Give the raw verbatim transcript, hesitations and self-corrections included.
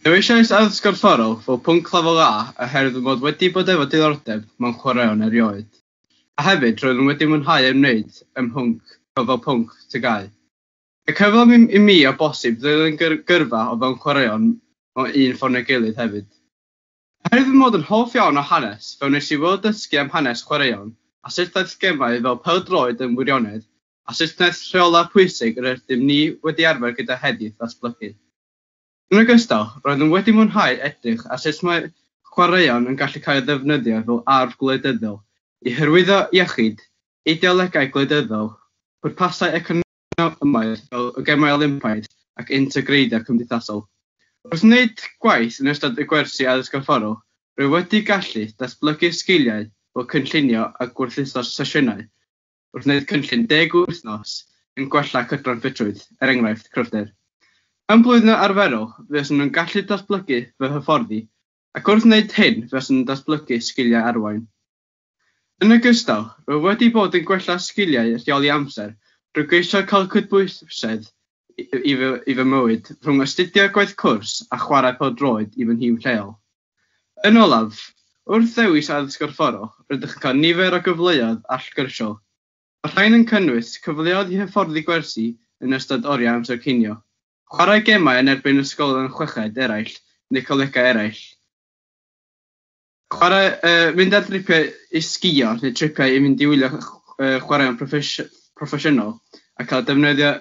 Dewisais addysg gorfforol fel pwnc lefel A oherwydd fy mod wedi bod efo diddordeb mewn chwaraeon erioed. A hefyd roeddwn wedi mwynhau ymwneud ym mhwnc fel pwnc T G A U. Y cyfle i mi o bosib ddilyn gyrfa o fewn chwaraeon mewn un ffordd neu gilydd hefyd. Oherwydd fy mod yn hoff iawn o hanes, fe wnes i weld dysgu am hanes chwaraeon a sut daeth gemau fel pêl-droed yn wirionedd, a sut wnaeth rheolau pwysig yr ydym ni wedi arfer gyda heddiw ddatblygu. Yn ogystal, roeddwn wedi mwynhau edrych ar sut mae chwaraeon yn gallu cael ei ddefnyddio fel arf gwleidyddol i hyrwyddo iechyd, ideolegau gwleidyddol, pwrpasau economaidd fel y Gemau Olympaidd ac integreiddio cymdeithasol. Wrth wneud gwaith yn ystod y gwersi addysg gorfforol, rwy wedi gallu datblygu sgiliau fel cynllunio a gwerthuso sesiynau wrth wneud cynllun deg wythnos yn gwella cydran ffitrwydd, er enghraifft cryfder. Mewn blwyddyn arferol, fuaswn nhw'n gallu datblygu fy hyfforddi, ac wrth wneud hyn, fuaswn yn datblygu sgiliau arwain. Yn ogystal, rwyf wedi bod yn gwella sgiliau rheoli amser drwy geisio cael cydbwysedd i, i, fy, i fy mywyd rhwng astudio gwaith cwrs a chwarae pêl-droed i fy nhîm lleol. Yn olaf, wrth ddewis addysg gorfforol, rydych yn cael nifer o gyfleoedd allgyrsiol. Mae'r rhain yn cynnwys cyfleoedd i hyfforddi gwersi yn ystod oriau amser cinio, chwarae gemau yn erbyn ysgolion chweched eraill neu colegau eraill, chwarae, uh, mynd ar dripiau i sgio neu tripiau i mynd i wylio uh, chwaraeon proffesiynol a cael defnyddio